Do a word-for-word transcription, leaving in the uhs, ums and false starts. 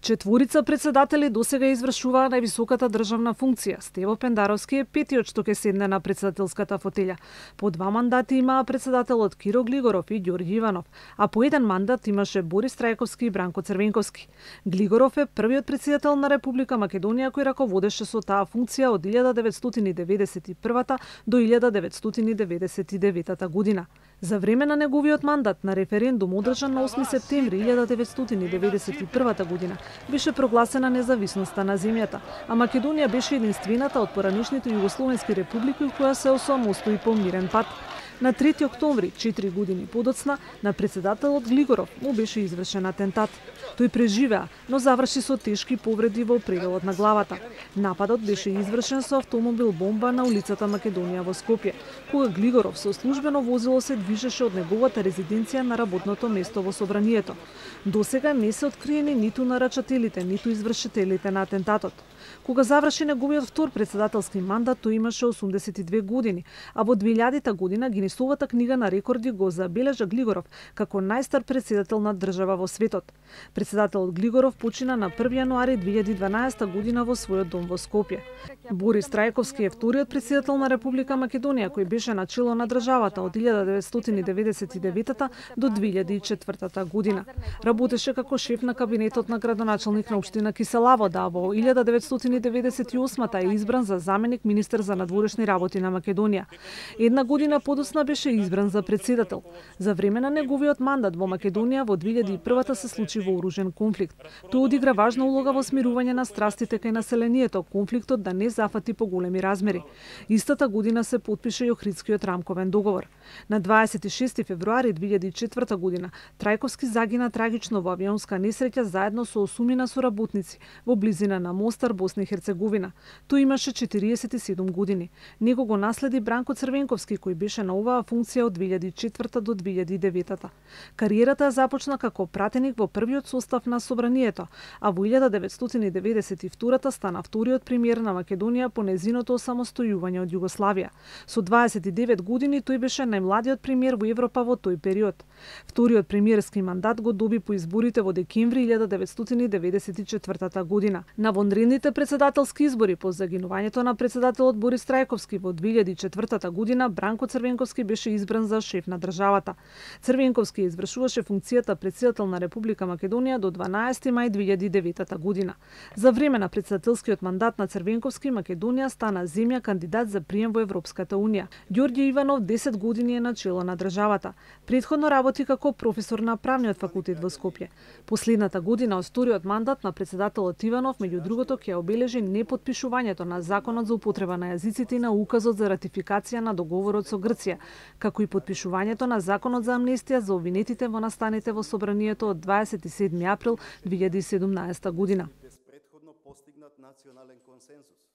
Четворица председатели досега извршуваа највисоката државна функција. Стево Пендаровски е петиот што ќе седне на председателската фотелја. По два мандати имаа председателот Киро Глигоров и Ѓорѓи Иванов, а по еден мандат имаше Борис Трајковски и Бранко Црвенковски. Глигоров е првиот председател на Република Македонија кој раководеше со таа функција од илјада деветстотини деветдесет и прва до илјада деветстотини деветдесет и девета година. За време на неговиот мандат на референдум одржан на осми септември илјада деветстотини деветдесет и прва година беше прогласена независноста на земјата, а Македонија беше единствената од поранишните југословенски републики која се осамостои по мирен пат. На трети октомври, четири години подоцна, на председателот Глигоров му беше извршен атентат. Тој преживеа, но заврши со тешки повреди во пределот на главата. Нападот беше извршен со автомобил бомба на улицата Македонија во Скопје, кога Глигоров со службено возило се движеше од неговата резиденција на работното место во Собранието. Досега не се откриени ниту нарачателите, ниту извршителите на атентатот. Кога заврши неговиот втор председателски мандат, тој имаше осумдесет и две години, а во две година Гинисовата книга на рекорди го забележа Глигоров како најстар председател на држава во светот. Председателот Глигоров почина на први јануари две илјади и дванаесета година во својот дом во Скопје. Борис Трајковски е вториот председател на Република Македонија кој беше на чело на државата од илјада деветстотини деветдесет и девета до две илјади и четвртата година. Работеше како шеф на кабинетот на градоначалник на општина Киселавода, а во илјада деветстотини деветдесет и осма е избран за заменик министер за надворешни работи на Македонија. Една година подоцна беше избран за председател. За време на неговиот мандат во Македонија во две илјади и прва се случи вооружен конфликт. Тој одигра важна улога во смирување на страстите кај населението, конфликтот да не зафати поголеми размери. Истата година се потпише и Охридскиот рамковен договор. На дваесет и шести февруари две илјади и четврта година Трајковски загина трагично во авионска несреќа заедно со осумина соработници во близина на Мостар, Босна и Херцеговина. Тој имаше четириесет и седум години. Него го наследи Бранко Црвенковски кој беше на оваа функција од две илјади и четврта до две илјади и девета. Кариерата ја започна како пратеник во првиот состав на Собранието, а во илјада деветстотини деветдесет и втора стана вториот премиер на Македонија по незиното осамостојување од Југославија. Со дваесет и девет години тој беше најмладиот премиер во Европа во тој период. Вториот премиерски мандат го доби по изборите во декември илјада деветстотини деветдесет и четврта година. На вонредните председателски избори по загинувањето на председателот Борис Трајковски во две илјади и четврта година Бранко Црвенковски беше избран за шеф на државата. Црвенковски извршуваше функцијата председател на Република Македонија до дванаесети мај две илјади и девета година. За време на председателскиот мандат на Црвенковски Македонија стана земја кандидат за прием во Европската унија. Ѓорѓи Иванов десет години е на чело на државата. Претходно работи како професор на правниот факултет во Скопје. Последната година од вториот мандат на председателот Иванов меѓу другото ќе обележи непотпишувањето на законот за употреба на јазиците и на указот за ратификација на договорот со Грција, како и потпишувањето на законот за амнестија за обвинетите во настаните во Собранието од дваесет и седми април две илјади и седумнаесета година. Без претходно постигнат национален консензус.